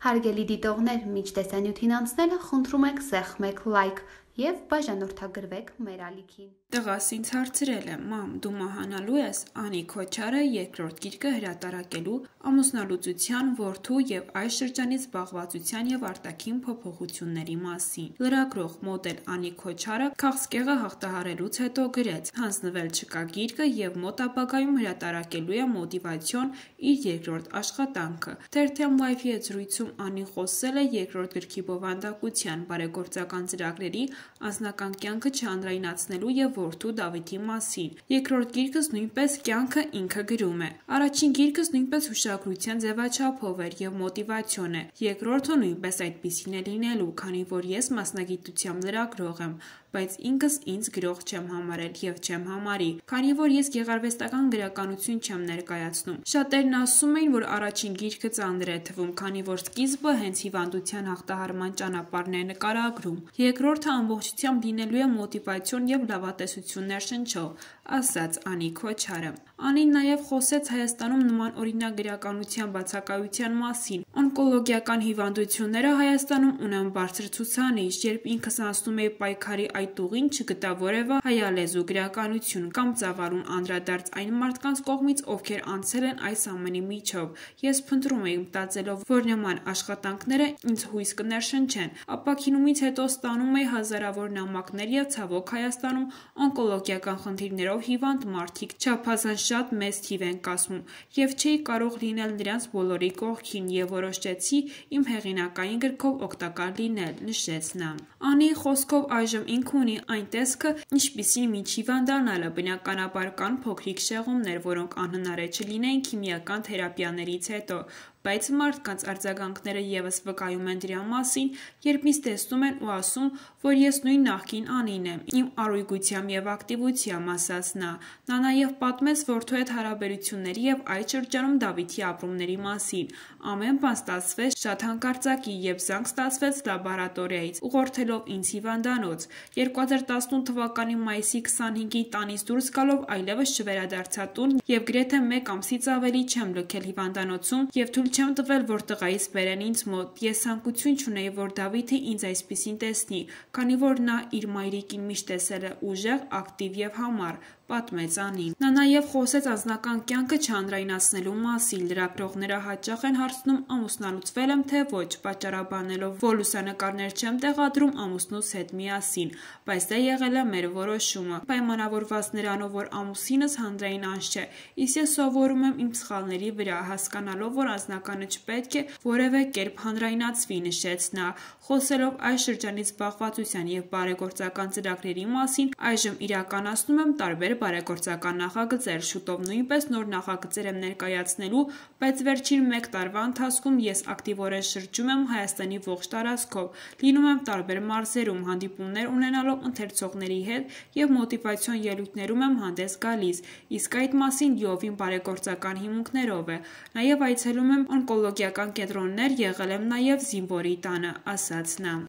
Հարգելի դիտողներ, մինչ տեսանյութին անցնելը խնդրում ենք սեղմեք լայք և բաժանորդագրվեք մեր ալիքին։ Տղաս ինձ հարցրել է. «Մամ, դու մահանալու ես Անի Քոչարը երկրորդ գիրքը հրատարակելու, ամուսնալուծության, որդու և այս շրջանից զբաղվածության և արտաքին փոփոխությունների մասին»։ Լրագրող, մոդել Անի Քոչարը քաղցկեղը հաղթահարելուց հետո գրեց. «Հանձնվել չկա գիրքը և մոտ ապագայում հրատարակելու է մոտիվացիոն իր երկրորդ աշխատանքը»։ Թերթեմ Live-ի հետ զրույցում Անին խոսել է երկրորդ գրքի բովանդակության, բարեգործական ծրագրերի, անձնական կյանքը չհանրայնացնելու և որդու Դավիթի մասին։ Երկրորդ գիրքս նույնպես կյանքը ինքը գրում է։ Առաջին գիրքս նույնպես հուշագրության ձևաչափով էր և մոտիվացիոն է։ Երկրորդը նույնպես այդպիսին է լինելու, քանի որ ես մասնագիտությամբ լրագրող եմ, բայց ինքս ինձ գրող չեմ համարել և չեմ համարի, քանի որ ես գեղարվեստական գրականություն չեմ ներկայացնում։ Շատերն ասում էին, որ առաջին գիրքը ծանր է թվում, քանի որ սկիզբը հենց հիվանդության հաղթահարման ճանապարհն է նկարագրում։ Երկրորդը ամբողջությամբ լինելու է մոտիվացիոն և լավատեսություններ շնչող, ասաց Անի Քոչարը։ Անին նաև խոսեց Հայաստանում նմանօրինակ գրականության բացակայության մասին։ Օնկոլոգիական հիվանդությունները Հայաստանում ունեն բարձր ցուցանիշ։ Երբ ինքս անցնում էի պայքարի այդ ուղին, չգտա որևէ հայալեզու գրականություն կամ ծավալուն անդրադարձ այն մարդկանց կողմից, ովքեր անցել են այս ամենի միջով։ Ես փնտրում էի, մտածելով, որ նման աշխատանքները ինձ հույս կներշնչեն։ Ապաքինումից հետո ստանում էի հազարավոր նամակներ և ցավոք Հայաստանում օնկոլոգիական խնդիրներով հիվանդ մարդիկ չափազանց շատ մեծ թիվ են կազմում, և չէի կարող լինել նրանց բոլորի կողքին և որոշեցի իմ հեղինակային գրքով օգտակար լինել, նշեց նա։ Անիի խոսքով այժմ ինքը ունի այն տեսքը, ինչպիսին մինչ հիվանդանալը։ Բնականաբար կան փոքրիկ շեղումներ, որոնք անհնար է չլինեին քիմիական թերապիաներից հետո, բայց մարդկանց արձագանքները ևս վկայում են դրա մասին, երբ ինձ տեսնում են ու ասում, որ ես նույն նախկին Անին եմ, իմ առույգությամբ և ակտիվությամբ, ասաց նա։ Նա նաև պատմեց որդու հետ հարաբերությունների և այդ շրջանում Դավիթի ապրումների մասին։ Ամեն բան ստացվեց շատ հանկարծակի, և զանգ ստացվեց լաբորատորիայից, ուղղորդելով ինձ հիվանդանոց։ 2018 թվականի մայիսի 25-ին տանից դուրս գալով այլևս չվերադարձա տուն և գրեթե մեկ ամսից ավելի չեմ լքել հիվանդանոցում և թույլ չեմ տվել, որ տղայիս բերեն ինձ մոտ։ Ես ցանկություն չունեի, որ Դավիթը ինձ այսպիսին տեսնի, քանի որ նա իր մայրիկին միշտ տեսել է ուժեղ, ակտիվ և համառ, պատմեց Անին։ Նա նաև խոսեց անձնական կյանքը չհանրայնացնելու մասին։ Լրագրողները հաճախ են հարցնում ամուսնալուծվե՞լ եմ, թե ոչ, պատճառաբանելով, որ լուսանկարներ չեմ տեղադրում ամուսնուս հետ միասին, բայց դա եղել է մեր որոշումը, պայմանավորված նրանով, որ ամուսինս հանրային անձ չէ, իսկ ես սովորում եմ իմ սխալների վրա, հասկանալով, որ անձնականը չպետք է որևէ կերպ հանրայնացվի, նշեց նա։ Խոսելով այս շրջանից զբաղվածության և բարեգործական ծրագրերի մասին, այժմ իրականացնում եմ տարբեր բարեգործական նախագծեր, շուտով նույնպես նոր նախագծեր եմ ներկայացնելու, բայց վերջին մեկ տարվա ընթացքում ես ակտիվորեն շրջում եմ Հայաստանի ողջ տարածքով, լինում եմ տարբեր մարզերում, հանդիպումներ ունենալով ընթերցողների հետ և մոտիվացիոն ելույթներում եմ հանդես գալիս, իսկ այդ մասին լիովին բարեգործական հիմունքներով է։ Նաև այցելում եմ օնկոլոգիական կենտրոններ, եղել եմ նաև զինվորի տանը, ասաց նա։